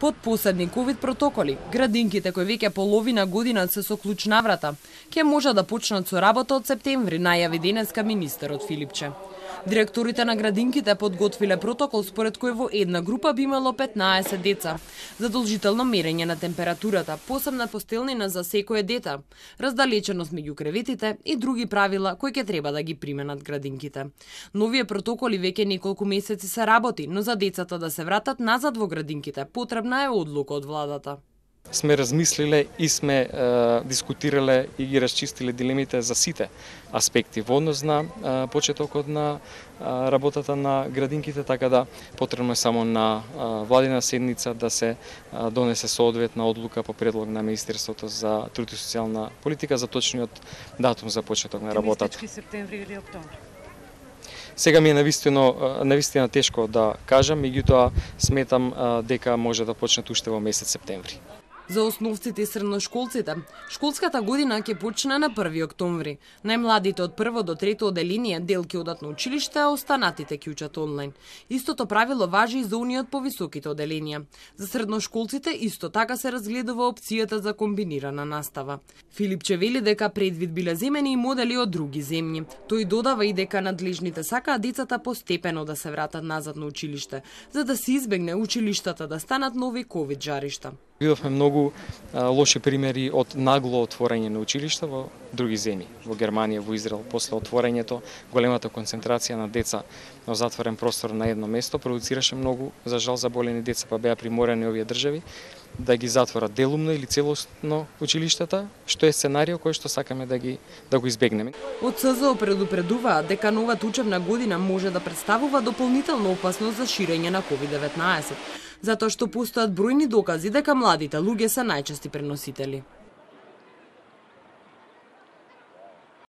Под посебни ковид протоколи, градинките кои веќе половина година се со клуч на врата, ќе може да почнат со работа од септември, најави денеска министерот Филипче. Директорите на градинките подготвиле протокол според кој во една група би имало 15 деца. Задолжително мерење на температурата, посебна постелнина за секое дете, раздалеченост меѓу креветите и други правила кои ќе треба да ги применат градинките. Новие протоколи веќе неколку месеци се работи, но за децата да се вратат назад во градинките потребна е одлука од владата. Сме размислиле и сме дискутирале и ги расчистиле дилемите за сите аспекти во однос на почетокот на работата на градинките, така да потребно е само на владина седница да се донесе соодветна одлука по предлог на Министерството за труд и социјална политика за точниот датум за почеток на работата. Септември или октомври? Сега ми е навистина тешко да кажам, меѓутоа сметам дека може да почне уште во месец септември. За основците и средношколците, школската година ќе почне на 1 октомври. Најмладите од 1 до 3 оделение дел ќе одат на училиште, а останатите ќе учат онлайн. Истото правило важи и за оние од повисоките оделенија. За средношколците исто така се разгледува опцијата за комбинирана настава. Филипче вели дека предвид биле земени и модели од други земји. Тој додава и дека надлежните сакаат децата постепено да се вратат назад на училиште, за да се избегне училиштата да станат нови ковид жаришта. Видовме многу лоши примери од нагло отворање на училишта во други земји, во Германија, во Израел, после отворањето, големата концентрација на деца на затворен простор на едно место продуцираше многу, за жал, заболени деца, па беа приморени овие држави да ги затворат делумно или целосно училиштата, што е сценарио кој што сакаме да го избегнеме. Од СЗО предупредуваат дека новата учебна година може да представува дополнителна опасност за ширење на COVID-19, затоа што постојат бројни докази дека младите луѓе се најчести преносители.